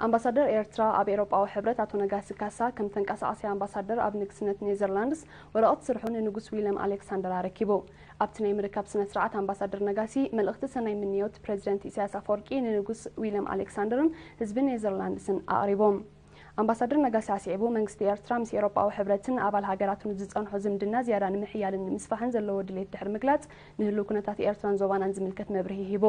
ኣምባሳደር ኤርትራ ኣብ ኤውሮጳዊ ሕብረት ኣቶ ነጋሲ ካሳ ከም ተንቀሳቓሲ ኣምባሳደር ኣብ ንግስነት ኔዘርላንድስ ወረቐት ስርሑ ንንጉስ ዊልያም ኣሌክሳንደር ኣረኪቡ። ኣብቲ ናይ ምርካብ ስነ ስርዓት ኣምባሳደር ነጋሲ መልእኽቲ ሰናይ ምንዮት ፕሬዚደንት ኢሳያስ ኣፈወርቂ ንንጉስ ዊልያም ኣሌክሳንደርን ህዝቢ ኔዘርላንድስን ኣቕሪቦም። ኣምባሳደር ነጋሲ ኣስዒቡ መንግስቲ ኤርትራ ምስ ኤውሮጳዊ ሕብረትን ኣባል ሃገራቱን ዝጸንሖ ዝምድና ዝያዳ ንምሕያልን ንምስፋሕን ዘለዎ ድሌት ድሕሪ ምግላጽ ንህልው ኩነታት ኤርትራን ዞባናን ዝምልከት መብርሂ ሂቡ።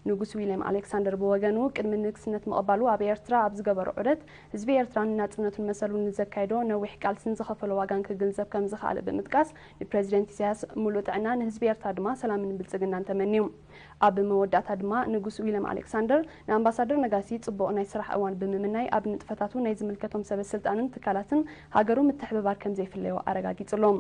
ንጉስ ዊልያም ኣሌክሳንደር ብወገኑ ቅድሚ ንግስነት ምቕባሉ ኣብ ኤርትራ ኣብ ዝገበሮ ዑደት ህዝቢ ኤርትራን ናጽነቱን መሰሉን ንዘካየዶ ነዊሕ ቃልስን ዝኸፈሎ ዋጋን ክግንዘብ ከም ዝኸኣለ ብምጥቃስ ንፕሬዚደንት ኢሳያስ ሙሉእ ጥዕና ንህዝቢ ኤርትራ ድማ ሰላምን ብልጽግናን ተመንዩ። ኣብ መወዳእታ ድማ ንጉስ ዊልያም ኣሌክሳንደር ንኣምባሳደር ነጋሲ ጽቡቕ ናይ ስራሕ እዋን ብምምናይ ኣብ ንጥፈታቱ ናይ ዝምልከቶም ሰበ ስልጣንን ትካላትን ሃገሩ ምትሕብባር ከም ዘይፍለዮ ኣረጋጊጹሎም።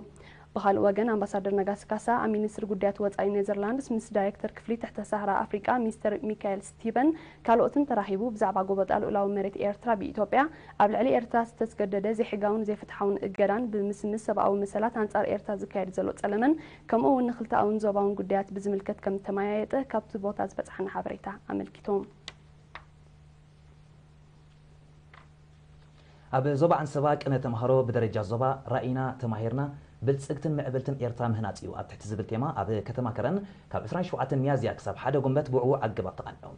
ብኻልእ ወገን ኣምባሳደር ነጋሲ ካሳ ኣብ ሚኒስትሪ ጉዳያት ወጻኢ ኔዘርላንድስ ምስ ዳይሬክተር ክፍሊ ትሕተ ሳህራ ኣፍሪቃ ሚስተር ሚካኤል ስቲበን ካልኦትን ተራኺቡ ብዛዕባ ጎበጣ ልኡላዊ መሬት ኤርትራ ብኢትዮጵያ ኣብ ልዕሊ ኤርትራ ዝተስገደደ ዘይሕጋውን ዘይፍትሓውን እገዳን ብምስምስ ሰብኣዊ መሰላት ኣንጻር ኤርትራ ዝካየድ ዘሎ ጸለመን ከምኡ እውን ንክልተኣውን ዞባውን ጉዳያት ብዝምልከት ከም ተመያየጠ ካብቲ ቦታ ዝበጽሓና ሓበሬታ ኣመልኪቶም። ኣብ ዞባ ዓንሰባ ቅነ ተምሃሮ ብደረጃ ዞባ ራኢና ተማሂርና ብልጽግትን ምዕብልትን ኤርትራ ምህናጽ እዩ ኣብ ትሕቲ ዝብል ቴማ ኣብ ከተማ ከረን ካብ ዕስራን ሸውዓተን ሚያዝያ ክሳብ ሓደ ጉንበት ብዕዉዕ ኣገባብ ተቓኒዑ።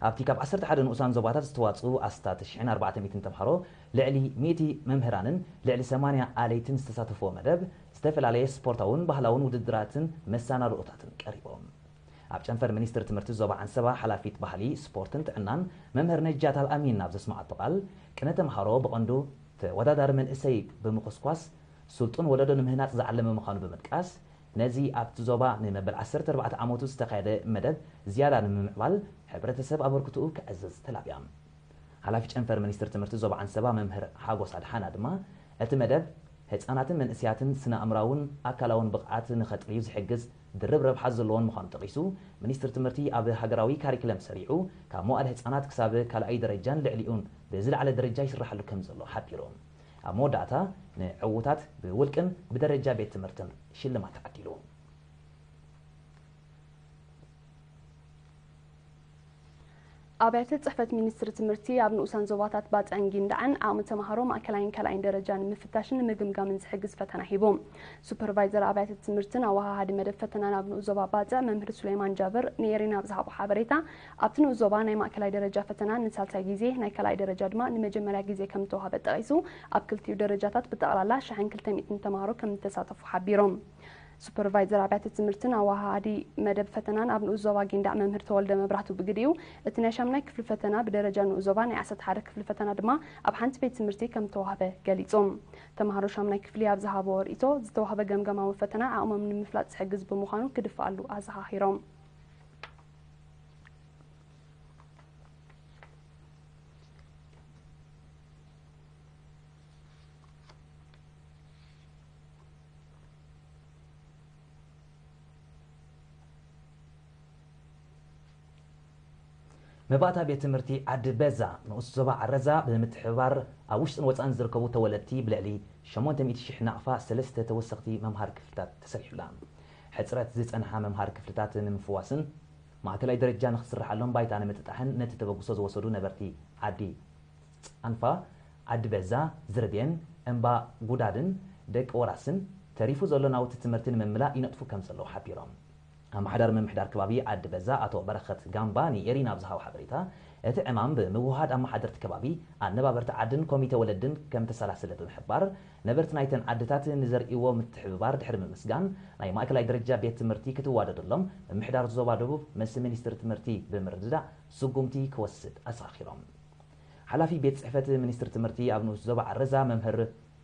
ኣብቲ ካብ ዓሰርተ ሓደ ንኡሳን ዞባታት ዝተዋጽኡ ኣስታት ሽሕን ኣርባዕተ ሚእትን ተምሃሮ ልዕሊ ሚእቲ መምህራንን ልዕሊ ሰማንያ ኣለይትን ዝተሳተፍዎ መደብ ዝተፈላለየ ስፖርታውን ባህላውን ውድድራትን መሰናድኦታትን ቀሪቦም። ኣብ ጨንፈር ሚኒስትሪ ትምህርቲ ዞባ ዓንሰባ ሓላፊት ባህሊ፣ ስፖርትን ጥዕናን መምህር ነጃት ኣልኣሚን ኣብ ዘስመዓቶ ቃል ቅነ ተምሃሮ ብቐንዱ ተወዳዳሪ መንእሰይ ብምኹስኳስ ስልጡን ወለዶ ንምህናጽ ዝዓለመ ምዃኑ ብምጥቃስ ነዚ ኣብቲ ዞባ ንመበል ዓሰርተ ኣርባዕተ ዓመቱ ዝተኻየደ መደብ ዝያዳ ንምምዕባል ሕብረተሰብ ኣበርክትኡ ከዕዝዝ ተላብያ። ሓላፊ ጨንፈር ሚኒስትሪ ትምህርቲ ዞባ ዓንሰባ መምህር ሓጎስ ኣድሓና ድማ እቲ መደብ ህጻናትን መንእሰያትን ስነ ኣእምራውን ኣካላውን ብቕዓት ንኸጥርዩ ዝሕግዝ ድርብ ረብሓ ዘለዎን ምዃኑ ጠቒሱ፣ ሚኒስትሪ ትምህርቲ ኣብ ሃገራዊ ካሪክለም ሰሪዑ ካብ መዋእለ ህጻናት ክሳብ ካልኣይ ደረጃን ልዕሊኡን ብዝለዓለ ደረጃ ይስራሓሉ ከም ዘሎ ሓቢሩ። ኣብ መወዳእታ ንዕዉታት ብውልቅን ብደረጃ ቤት ትምህርትን ሽልማት ተዓዲሉ። ኣብያተ ጽሕፈት ሚኒስትሪ ትምህርቲ ኣብ ንኡሳን ዞባታት ባጽዕን ጊንዳዕን ዓቕሚ ተምሃሮ ማእከላይን ካልኣይን ደረጃ ንምፍታሽን ንምግምጋምን ዝሕግዝ ፈተና ሂቡ። ሱፐርቫይዘር ኣብያተ ትምህርትን ኣወሃሃዲ መደብ ፈተናን ኣብ ንኡስ ዞባ ባጽዕ መምህር ሱሌማን ጃብር ንኤሪና ኣብ ዝሃቦ ሓበሬታ ኣብቲ ንኡስ ዞባ ናይ ማእከላይ ደረጃ ፈተና ንሳልሳይ ግዜ ናይ ካልኣይ ደረጃ ድማ ንመጀመርያ ግዜ ከም ዝተዋህበ ጠቒሱ ኣብ ክልቲኡ ደረጃታት ብጠቕላላ ሽሕን ክልተ ሚእትን ተምሃሮ ከም ዝተሳተፉ ሓቢሮም። ሱፐርቫይዘር ኣብያተ ትምህርትን ኣወሃሃዲ መደብ ፈተናን ኣብ ንኡስ ዞባ ጊንዳዕ መምህር ተወልደ መብራህቱ ብግዲኡ፣ እቲ ናይ ሻምናይ ክፍሊ ፈተና ብደረጃ ንኡስ ዞባ ናይ ዓሰርተ ሓደ ክፍሊ ፈተና ድማ ኣብ ሓንቲ ቤት ትምህርቲ ከም ዝተዋህበ ገሊጹ። ተምሃሮ ሻምናይ ክፍሊ ኣብ ዝሃብዎ ርእይቶ፣ ዝተዋህበ ገምጋማዊ ፈተና ዓቕሞም ንምፍላጥ ዝሕግዝ ብምዃኑ ክድፍኣሉ ኣዘኻኺሮም። መባእታ ቤት ትምህርቲ ዓዲ በዛ ንኡስ ዞባ ዓረዛ ብምትሕብባር ኣብ ውሽጥን ወፃእን ዝርከቡ ተወለድቲ ብልዕሊ ሸሞንተ ሚእቲ ሽሕ ናቕፋ ሰለስተ ተወሰኽቲ መምሃሪ ክፍልታት ተሰሪሑላ። ሕፅረት ዝፀንሓ መምሃሪ ክፍልታት ንምፍዋስን ማእከላይ ደረጃ ንክስርሓሎም ባይታ ንምጥጣሕን ነቲ ተበግሶ ዝወሰዱ ነበርቲ ዓዲ ፃንፋ፣ ዓዲ በዛ፣ ዝርቤን፣ እምባ ጉዳድን ደቂ ወራስን ተሪፉ ዘሎ ናውቲ ትምህርቲ ንምምላእ ይነጥፉ ከም ዘለዉ ሓቢሮም። ኣመሓዳሪ ምምሕዳር ከባቢ ዓዲ በዛ ኣቶ በረኸት ጋምባ ንኤሪና ኣብ ዝሃቦ ሓበሬታ፣ እቲ ዕማም ብምውህሃድ ኣመሓደርቲ ከባቢ፣ ኣነባበርቲ ዓድን ኮሚተ ወለድን ከም ተሰላሰለ ብምሕባር፣ ነበርቲ ናይተን ዓድታት ንዘርእይዎ ምትሕብባር ድሕሪ ምምስጋን፣ ናይ ማእከላይ ደረጃ ቤት ትምህርቲ ክትዋደደሎም ምምሕዳር ዞባ ደቡብ ምስ ሚኒስትሪ ትምህርቲ ብምርድዳእ ስጉምቲ ክወስድ ኣዘኻኺሮም። ሓላፊ ቤት ጽሕፈት ሚኒስትሪ ትምህርቲ ኣብ ንኡስ ዞባ ዓረዛ መምህር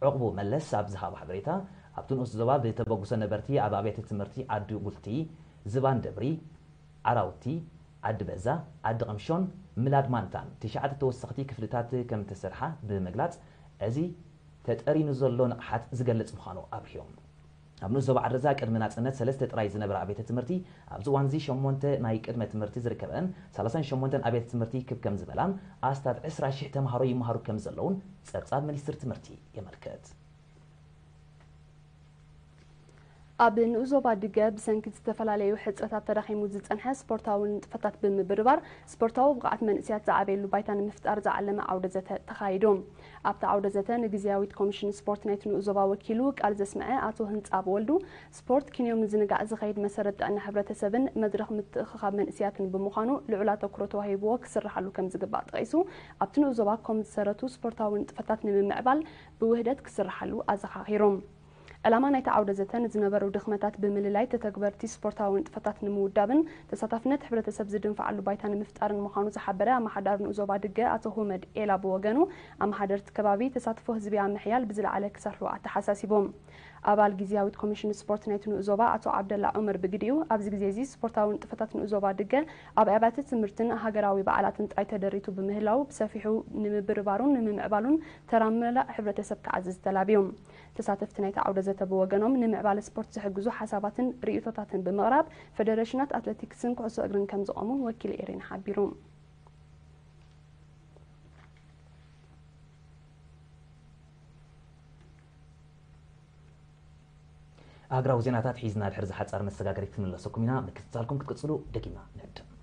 ዕቑቡ መለስ ኣብ ዝሃቦ ሓበሬታ፣ ኣብቲ ንኡስ ዞባ ብተበግሶ ነበርቲ ኣብ ኣብያተ ትምህርቲ ዓዲ ጉልቲ፣ ዝባን ደብሪ፣ ዓራውቲ፣ ዓዲ በዛ፣ ዓዲ ቐምሾን ምላድ ማንታን ትሽዓተ ተወሰኽቲ ክፍልታት ከም እተሰርሓ ብምግላጽ፣ እዚ ተጠሪኑ ዘሎ ንቕሓት ዝገልጽ ምዃኑ ኣብርሂዎም። ኣብ ንኡስ ዞባ ዓረዛ ቅድሚ ናጽነት ሰለስተ ጥራይ ዝነበራ ኣብያተ ትምህርቲ ኣብዚ እዋንዚ ሸሞንተ ናይ ቅድመ ትምህርቲ ዝርከበን ሰላሳን ሸሞንተን ኣብያተ ትምህርቲ ክብ ከም ዝበላን ኣስታት ዕስራ ሽሕ ተምሃሮ ይመሃሩ ከም ዘለውን ጸብጻብ ሚኒስትሪ ትምህርቲ የመልክት። ኣብ ንኡስ ዞባ ድገ ብሰንኪ ዝተፈላለዩ ሕጽረታት ተዳኺሙ ዝጸንሐ ስፖርታዊ ንጥፈታት ብምብርባር፣ ስፖርታዊ ብቕዓት መንእሰያት ዝዓበየሉ ባይታ ንምፍጣር ዝዓለመ ዓውደ ዘተ ተኻይዱ። ኣብቲ ዓውደ ዘተ ንግዝያዊት ኮሚሽን ስፖርት ናይቲ ንኡስ ዞባ ወኪሉ ቃል ዘስምዐ ኣቶ ህንጻብ ወልዱ፣ ስፖርት ክንዮ ምዝንጋዕ ዝኸይድ መሰረት ጥዕና ሕብረተሰብን መድረኽ ምትእኽኻብ መንእሰያትን ብምዃኑ ልዑል ኣተኩሮ ተዋሂብዎ ክስርሓሉ ከም ዝግባእ ጠቒሱ፣ ኣብቲ ንኡስ ዞባ ኮም ዝሰረቱ ስፖርታዊ ንጥፈታት ንምምዕባል ብውህደት ክስርሓሉ ኣዘኻኺሩ። ዕላማ ናይቲ ዓውደ ዘተ ንዝነበሩ ድኽመታት ብምልላይ ተተግበርቲ ስፖርታዊ ንጥፈታት ንምውዳብን ተሳታፍነት ሕብረተሰብ ዝድንፍዓሉ ባይታ ንምፍጣርን ምዃኑ ዝሓበረ ኣመሓዳሪ ንኡስ ዞባ ድገ ኣቶ ሁመድ ኤላ ብወገኑ፣ ኣመሓደርቲ ከባቢ ተሳትፎ ህዝቢ ኣብ ምሕያል ብዝለዓለ ክሰርሑ ኣተሓሳሲቡ። ኣባል ግዝያዊት ኮሚሽን ስፖርት ናይቲ ንኡስ ዞባ ኣቶ ዓብደላ ዑመር ብግዲኡ፣ ኣብዚ ግዜ እዚ ስፖርታዊ ንጥፈታት ንኡስ ዞባ ድገ ኣብ ኣብያተ ትምህርትን ሃገራዊ በዓላትን ጥራይ ተደሪቱ ብምህላው፣ ብሰፊሑ ንምብርባሩን ንምምዕባሉን ተራ መላእ ሕብረተሰብ ክዓዝዝ ተላብዩ። ተሳተፍቲ ናይቲ ዓውደ ዘተ ብወገኖም፣ ንምዕባለ ስፖርት ዝሕግዙ ሓሳባትን ርእይቶታትን ብምቕራብ፣ ፈደረሽናት ኣትሌቲክስን ኩዕሶ እግርን ከም ዝቖሙ ወኪል ኤሬና ሓቢሩ። ኣህግራዊ ዜናታት ሒዝና ድሕሪ ዝሓጻር መሰጋገሪት ክንምለሰኩም ኢና። ምክትታልኩም ክትቅጽሉ ደጊምና ንዕድም።